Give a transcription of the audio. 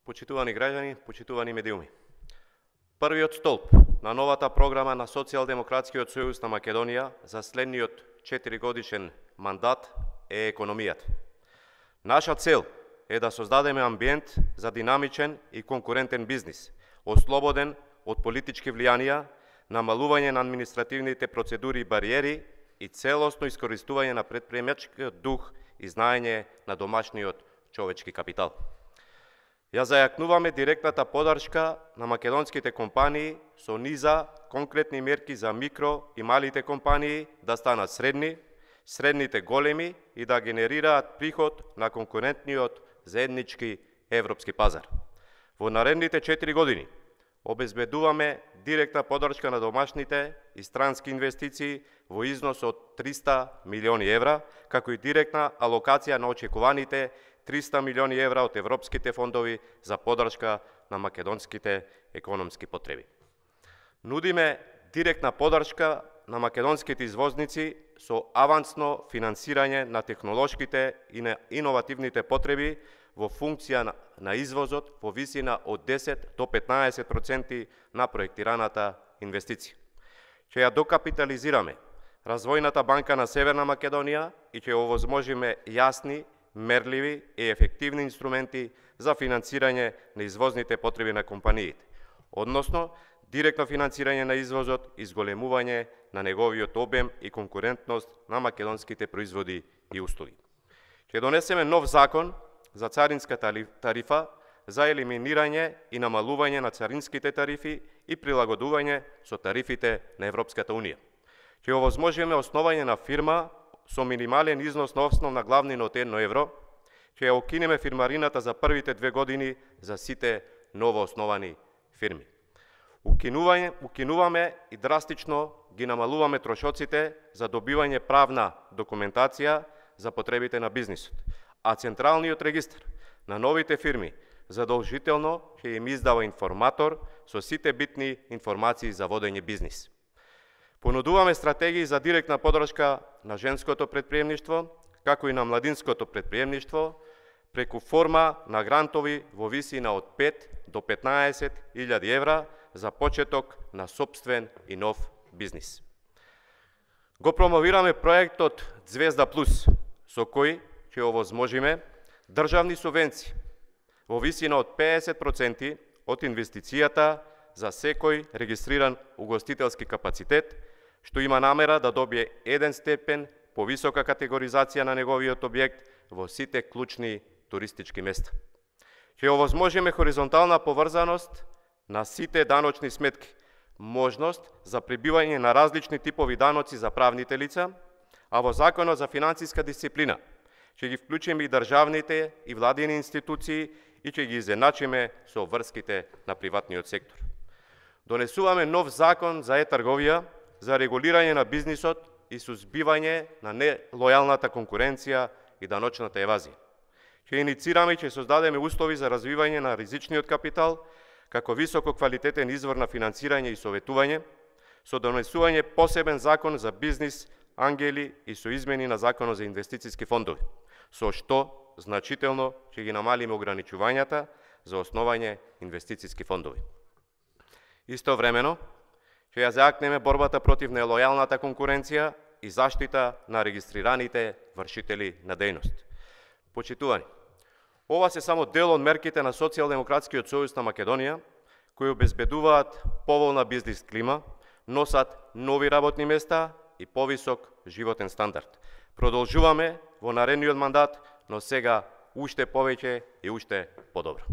Почитувани граѓани, почитувани медиуми. Првиот столб на новата програма на Социјалдемократскиот сојуз на Македонија за следниот 4-годишен мандат е економијата. Наша цел е да создадеме амбиент за динамичен и конкурентен бизнис, ослободен од политички влијанија, намалување на административните процедури и бариери и целосно искористување на претприемачкиот дух и знаење на домашниот човечки капитал. Ја зајакнуваме директната подршка на македонските компании со низа конкретни мерки за микро и малите компании да станат средни, средните големи и да генерираат приход на конкурентниот заеднички европски пазар. Во наредните 4 години обезбедуваме директна подршка на домашните и странски инвестиции во износ од 300 милиони евра, како и директна алокација на очекуваните 300 милиони евра од европските фондови за подршка на македонските економски потреби. Нудиме директна подршка на македонските извозници со авансно финансирање на технолошките и на иновативните потреби во функција на извозот во висина од 10 до 15% на проектираната инвестиција. Ќе ја докапитализираме Развојната банка на Северна Македонија и ќе овозможиме јасни, мерливи и ефективни инструменти за финансирање на извозните потреби на компаниите, односно директно финансирање на извозот и зголемување на неговиот обем и конкурентност на македонските производи и услуги. Ќе донесеме нов закон за царинска тарифа за елиминирање и намалување на царинските тарифи и прилагодување со тарифите на Европската Унија. Ќе овозможиме основање на фирма со минимален износ на основна главнина од 1 евро, ќе ја укинеме фирмарината за првите 2 години за сите новоосновани фирми. Укинуваме и драстично ги намалуваме трошоците за добивање правна документација за потребите на бизнисот, а Централниот регистар на новите фирми задолжително ќе им издава информатор со сите битни информации за водење бизнис. Понудуваме стратегии за директна подршка на женското претприемништво, како и на младинското претприемништво, преку форма на грантови во висина од 5 до 15.000 евра за почеток на сопствен и нов бизнис. Го промовираме проектот Звезда Плюс, со кој ќе овозможиме државни субвенции во висина од 50% од инвестицијата за секој регистриран угостителски капацитет, што има намера да добие 1 степен повисока категоризација на неговиот објект во сите клучни туристички места. Ќе овозможиме хоризонтална поврзаност на сите даночни сметки, можност за прибивање на различни типови даноци за правните лица, а во Законот за финансиска дисциплина ќе ги вклучиме и државните и владини институции и ќе ги изедначиме со врските на приватниот сектор. Донесуваме нов закон за е-трговија, за регулирање на бизнисот и сузбивање на нелојалната конкуренција и даночната евазија. Ќе иницираме и ќе создадеме услови за развивање на ризичниот капитал, како високо квалитетен извор на финансирање и советување, со донесување посебен закон за бизнис, ангели и со измени на Законот за инвестициски фондови, со што значително ќе ги намалиме ограничувањата за основање инвестициски фондови. Истовремено, ќе ја зајакнеме борбата против нелојалната конкуренција и заштита на регистрираните вршители на дејност. Почитувани, ова се само дел од мерките на Социјалдемократскиот сојуз на Македонија, кои обезбедуваат поволна бизнис клима, носат нови работни места и повисок животен стандард. Продолжуваме во наредниот мандат, но сега уште повеќе и уште подобро.